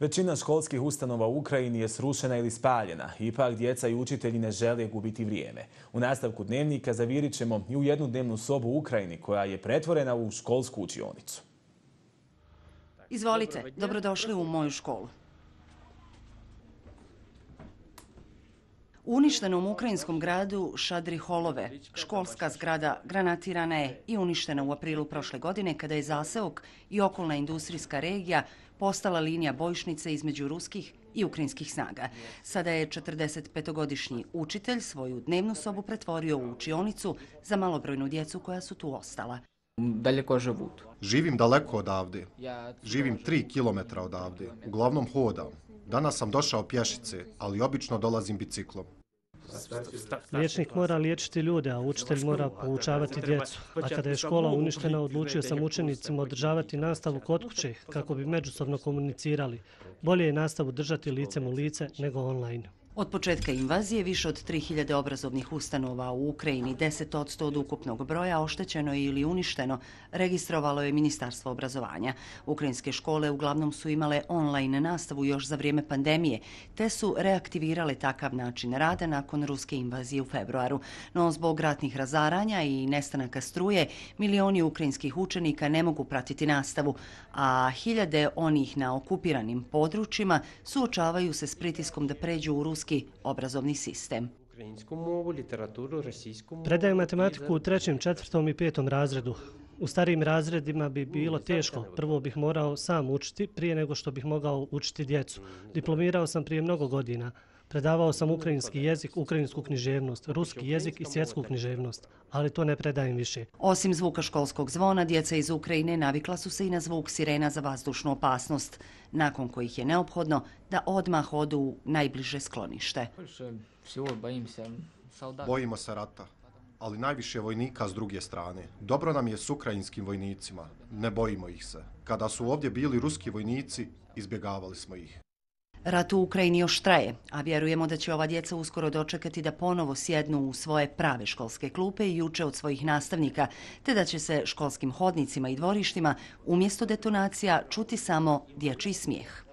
Većina školskih ustanova u Ukrajini je srušena ili spaljena. Ipak djeca i učitelji ne žele gubiti vrijeme. U nastavku dnevnika zavirit ćemo i u jednu dnevnu sobu u Ukrajini koja je pretvorena u školsku učionicu. Izvolite, dobrodošli u moju školu. U uništenom ukrajinskom gradu Šadriholove školska zgrada granatirana je i uništena u aprilu prošle godine kada je zaseok i okolna industrijska regija postala linija bojišnice između ruskih i ukrajinskih snaga. Sada je 45-godišnji učitelj svoju dnevnu sobu pretvorio u učionicu za malobrojnu djecu koja su tu ostala. Daleko живут. Živim daleko odavde. Živim 3 kilometra odavde. Uglavnom hodam. Danas sam došao pješice, ali obično dolazim biciklom. Liječnik mora liječiti ljude, a učitelj mora poučavati djecu. A kada je škola uništena, odlučio sam učenicima održavati nastavu kod kuće kako bi međusobno komunicirali. Bolje je nastavu držati licem u lice nego online. Od početka invazije više od 3000 obrazovnih ustanova u Ukrajini, 10% od ukupnog broja, oštećeno je ili uništeno, registrovalo je Ministarstvo obrazovanja. Ukrajinske škole uglavnom su imale online nastavu još za vrijeme pandemije, te su reaktivirale takav način rada nakon ruske invazije u februaru. No zbog ratnih razaranja i nestanaka struje, milioni ukrajinskih učenika ne mogu pratiti nastavu, a hiljade onih na okupiranim područjima suočavaju se s pritiskom da pređu u ruski obrazovni sistem. Predajem matematiku u 3., 4. i 5. razredu. U starijim razredima bi bilo teško. Prvo bih morao sam učiti prije nego što bih mogao učiti djecu. Diplomirao sam prije mnogo godina. Predavao sam ukrajinski jezik, ukrajinsku književnost, ruski jezik i svjetsku književnost, ali to ne predajem više. Osim zvuka školskog zvona, djeca iz Ukrajine navikla su se i na zvuk sirena za vazdušnu opasnost, nakon kojih je neophodno da odmah odu u najbliže sklonište. Bojimo se rata, ali najviše vojnika s druge strane. Dobro nam je s ukrajinskim vojnicima, ne bojimo ih se. Kada su ovdje bili ruski vojnici, izbjegavali smo ih. Rat u Ukrajini još traje, a vjerujemo da će ova djeca uskoro dočekati da ponovo sjednu u svoje prave školske klupe i uče od svojih nastavnika, te da će se školskim hodnicima i dvorištima umjesto detonacija čuti samo dječji smijeh.